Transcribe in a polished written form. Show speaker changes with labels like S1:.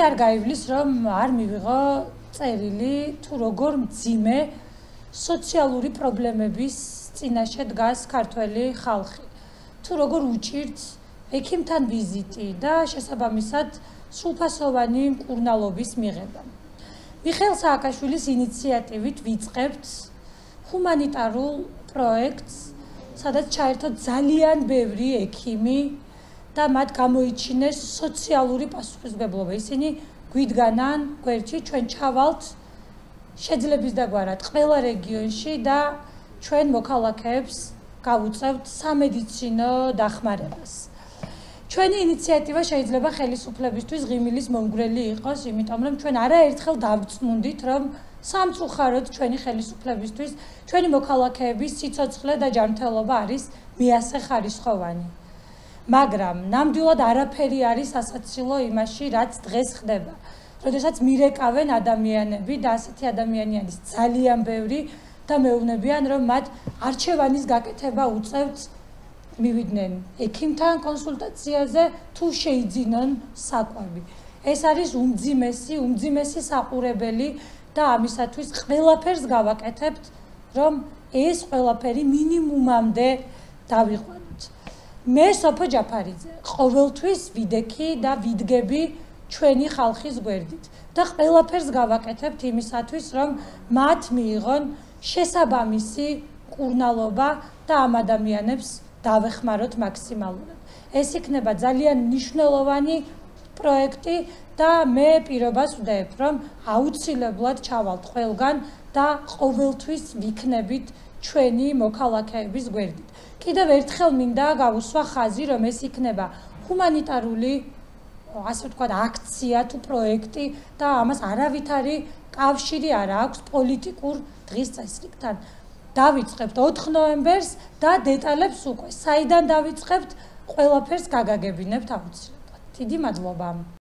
S1: არ გაივლის რომ არ მივიღო წერილი თუ როგორ მძიმე სოციალური პრობლემების წინაშე დგას ქართველი ხალხი თუ როგორ უჭირთ ექიმთან ვიზიტი და შესაბამისად სრულფასოვანი მკურნალობის მიღება. მიხეილ სააკაშვილის ინიციატივით ვიწყებთ ჰუმანიტარულ პროექტს, სადაც ჩაერთოთ ძალიან ბევრი ექიმი და მათ გამოიჩინეს სოციალური პასუხისმგებლობა. ისინი გვიდგანან გვერდში ჩვენ ჩავალთ შეძლების დაგვარად ყველა რეგიონში და ჩვენ მოქალაქეებს გავუწევთ სამედიცინო დახმარებას. ჩვენი ინიციატივა შეიძლება ხელისუფლებისთვის ღიმილის მომგვრელი იყოს, იმიტომ რომ ჩვენ არაერთხელ დავწმუნდით, რომ სამწუხაროდ ჩვენი ხელისუფლებისთვის ჩვენი მოქალაქეების სიცოცხლე და ჯანმრთელობა არის მიასე ხარისხოვანი. მაგრამ ნამდვილად არაფერი არის ასაცილო იმაში, რაც დღეს ხდება. როდესაც მირეკავენ ადამიანები და ასეთი ადამიანი არის ძალიან ბევრი და მეუბნებიან, რომ მათ არჩევანის გაკეთება უწევთ მივიდნენ ექიმთან კონსულტაციაზე თუ შეიძინონ საკვები. ეს არის უმძიმესი საყურებელი და ამისათვის ყველაფერს გავაკეთებთ, რომ ეს ყველაფერი მინიმუმამდე დავიყვანოთ. მე სოფო ჯაფარიძე ყოველთვის ვიდექი და ვიდგები ჩვენი ხალხის გვერდით და ყველაფერს გავაკეთებთ იმისათვის, რომ მათ მიიღონ შესაბამისი მკურნალობა და ამ ადამიანებს დავეხმაროთ მაქსიმალურად. ეს იქნება ძალიან მნიშვნელოვანი პროექტი და მე პირობას ვდებ, რომ აუცილებლად ჩავალთ ყველგან და ყოველთვის ვიქნებით ჩვენი მოქალაქეების გვერდით. კიდევ ერთხელ მინდა გავუსვა ხაზი, რომ ეს იქნება ჰუმანიტარული, ასე ვთქვათ, აქცია თუ პროექტი და ამას არავითარი კავშირი არ აქვს პოლიტიკურ დღის წესრიგთან. დავიწყებთ 4 ნოემბერს და დეტალებს უკვე საიდან დავიწყებთ, ყველაფერს გაგაგებინებთ აუცილებლად. დიდი მადლობა.